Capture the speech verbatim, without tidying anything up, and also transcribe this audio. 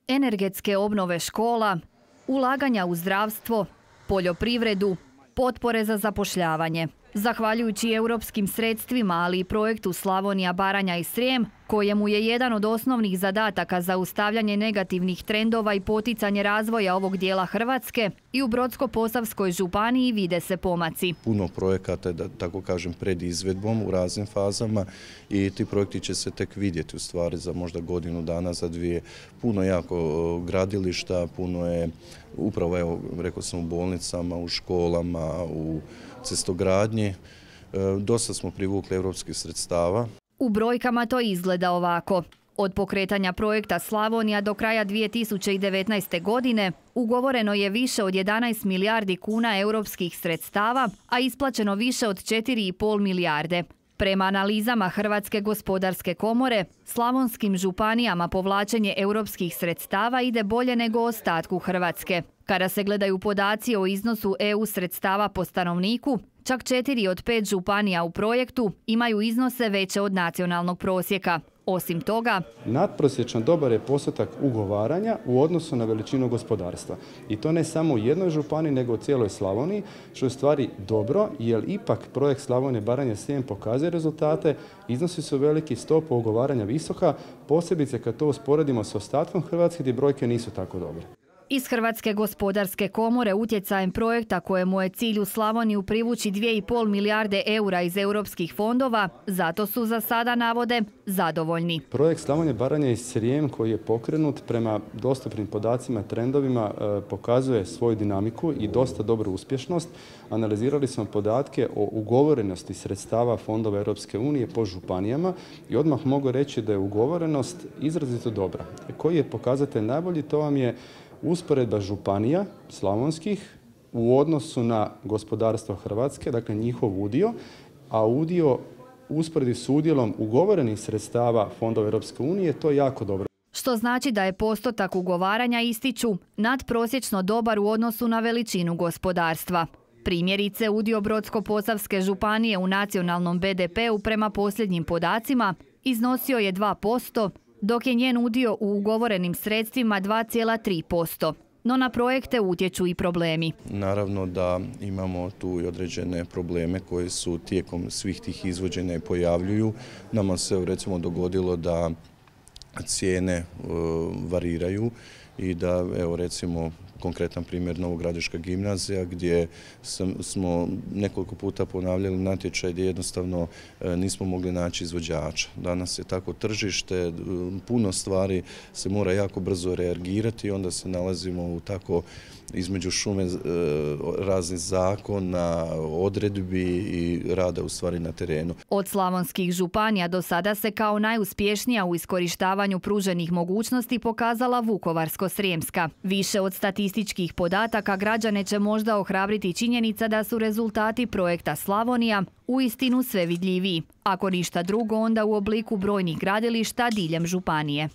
energetske obnove škola, ulaganja u zdravstvo, poljoprivredu, potpore za zapošljavanje. Zahvaljujući europskim sredstvima, ali i projektu Slavonija, Baranja i Srijem, kojemu je jedan od osnovnih zadataka zaustavljanje negativnih trendova i poticanje razvoja ovog dijela Hrvatske, i u Brodsko-posavskoj županiji vide se pomaci. Puno projekata je, da tako kažem, pred izvedbom u raznim fazama i ti projekti će se tek vidjeti u stvari za možda godinu dana, za dvije. Puno jako gradilišta, puno je upravo, evo, rekao sam, u bolnicama, u školama, u cestogradnji. Dosta smo privukli europskih sredstava. U brojkama to izgleda ovako. Od pokretanja projekta Slavonija do kraja dvije tisuće devetnaeste. godine ugovoreno je više od jedanaest milijardi kuna europskih sredstava, a isplaćeno više od četiri i pol milijarde. Prema analizama Hrvatske gospodarske komore, slavonskim županijama povlačenje europskih sredstava ide bolje nego ostatku Hrvatske. Kada se gledaju podaci o iznosu E U sredstava po stanovniku, čak četiri od pet županija u projektu imaju iznose veće od nacionalnog prosjeka. Osim toga, nadprosječno dobar je postotak ugovaranja u odnosu na veličinu gospodarstva. I to ne samo u jednoj županiji, nego u cijeloj Slavoniji, što je u stvari dobro, jer ipak projekt Slavonije, Baranje i Srijem pokazuje rezultate, iznosi su veliki, stopa ugovaranja visoka, posebice kad to usporedimo s ostatkom Hrvatske gdje brojke nisu tako dobre. Iz Hrvatske gospodarske komore utjecajem projekta kojemu je cilj u Slavoniju privući dvije i pol milijarde eura iz europskih fondova, zato su za sada, navode, zadovoljni. Projekt Slavonije, Baranje i Srijem koji je pokrenut prema dostupnim podacima i trendovima pokazuje svoju dinamiku i dosta dobru uspješnost. Analizirali smo podatke o ugovorenosti sredstava fondova Europske unije po županijama i odmah mogu reći da je ugovorenost izrazito dobra. Koji je pokazatelj najbolji? To vam je usporedba županija slavonskih u odnosu na gospodarstvo Hrvatske, dakle njihov udio, a udio usporedi s udjelom ugovorenih sredstava fondova Europske unije, to je jako dobro. Što znači da je postotak ugovaranja, ističu, nadprosječno dobar u odnosu na veličinu gospodarstva. Primjerice, udio Brodsko-posavske županije u nacionalnom be de pe u prema posljednjim podacima iznosio je dva posto, dok je njen udio u ugovorenim sredstvima dva zarez tri posto. No na projekte utječu i problemi. Naravno da imamo tu i određene probleme koje su tijekom svih tih izvođenja i pojavljuju. Nama se recimo dogodilo da cijene variraju i da, evo recimo, konkretan primjer Novogradiška gimnazija gdje smo nekoliko puta ponavljali natječaj gdje jednostavno nismo mogli naći izvođača. Danas je tako tržište, puno stvari se mora jako brzo reagirati i onda se nalazimo u tako između šume raznih zakona, odredbi i rada u stvari na terenu. Od slavonskih županija do sada se kao najuspješnija u iskorištavanju pruženih mogućnosti pokazala Vukovarsko-srijemska. Više od statističkih podataka građane će možda ohrabriti činjenica da su rezultati projekta Slavonija uistinu sve vidljiviji. Ako ništa drugo, onda u obliku brojnih gradilišta diljem županije.